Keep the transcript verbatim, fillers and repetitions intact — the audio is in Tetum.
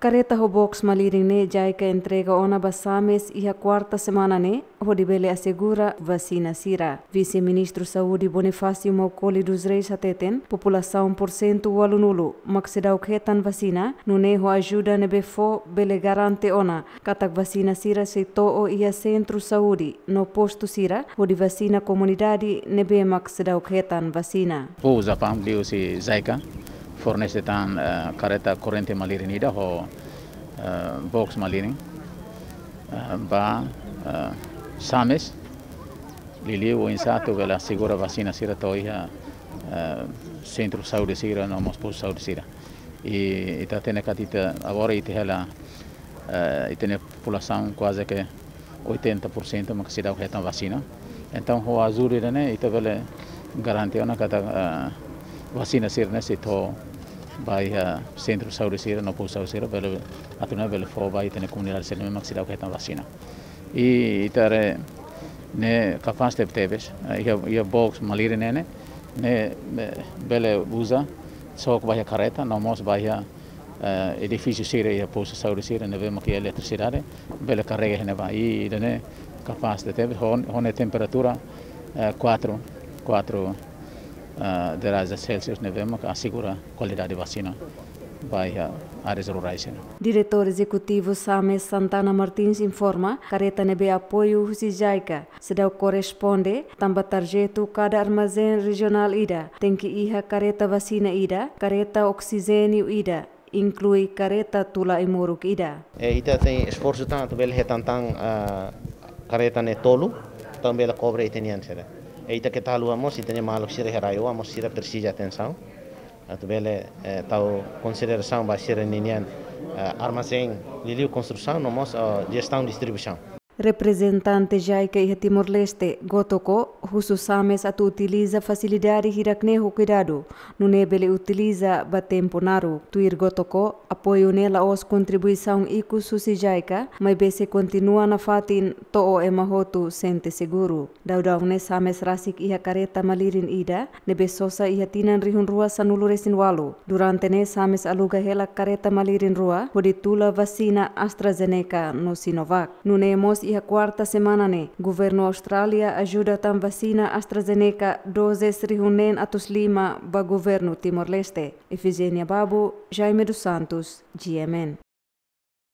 Kareta ho box malirin ne'e JICA entrega ona ba SAMES iha kuarta semana ne'e, hodi bele asegura vasina sira. Vise-Ministru Saúde Bonifácio Maukoli dos Reis hateten, populasaun porsentu ualunulu mak seidauk hetan vasina, nune'e ho ajuda ne'ebé fó bele garante ona katak vasina sira sei to'o iha sentru saúde no postu sira, hodi vasina komunidade ne'ebé mak seidauk hetan vasina. Povu Japaun liuhusi JICA fornese tan, eh, kareta korrente malirin ida ho, eh, box malirin, eh, ba, eh, SAMES, liuliu oinsá atu bele asegura vasina sira to'o iha, eh, sentru saúde sira no mós postu saúde sira. I ita hatene katak ita agora ita hela, eh, ita-nia populasaun kuaze ke oitenta por cento mak seidauk hetan vasina. Entaun, ho ajuda ida-ne'e, ita bele garante ona katak, eh, vasina sira-ne'e sei to'o ba iha sentru saúde sira no postu saúde sira, bele, atu nune'e bele fó ba ita-nia komunidade sira-ne'e mak seidauk hetan vasina. I ita haree ne'e kapás tebetebes, eh, iha, iha box malirin ne'e, ne'e, ne'e bele uza, sok ba iha kareta, no mós ba iha, eh, edifísiu sira iha postu saúde sira ne'ebé mak iha eletrisidade, bele karrega iha ne'ebá. I ida-ne'e kapás tebetebes, ho, ho nia temperatura, eh, kuatru, kuatru, eh, derajat Celsius ne'ebé mak asegura kualidade vasina ba iha áreas rurais sira. Diretór Ezekutivu SAMES Santana Martins informa, kareta ne'ebé apoiu husi JICA seidauk korresponde, tanba tarjetu kada armazén rejionál ida tenke iha kareta vasina ida, kareta oksijéniu ida, inklui kareta tula ai-moruk ida. E ita tenke esforsu tan atu bele hetan tan, ah, kareta ne'e tolu, entaun bele kobre ita-nian sira. E ita keta haluha mós, ita-nia maluk sira iha rai-oan mós sira presiza atensaun atu bele, eh, tau konsiderasaun ba sira-ninian, eh, armazén, liuliu konstrusaun, no mós, eh, jestaun distribuisaun. Reprezentante JICA iha Timor-Leste, Gotoko, husu SAMES atu utiliza fasilidade hirak-ne'e ho kuidadu, nune'e bele utiliza ba tempu naruk. Tuir Gotoko, apoiu ne'e la'ós kontribuisaun ikus husi JICA, maibé sei kontinua nafatin to'o ema hotu sente seguru. Daudaun ne'e SAMES rasik iha kareta malirin ida, ne'ebé sosa iha tinan rihun rua sanulu resin ualu. Durante ne'e SAMES aluga hela kareta malirin rua, hodi tula vasina AstraZeneca no Sinovac. Nune'e mós iha kuarta semana ne'e, governu Austrália ajuda tan vasina AstraZeneca dozes rihun neen atus lima ba governu Timor-Leste. Efigénia Babu, Jaime dos Santos, GMN.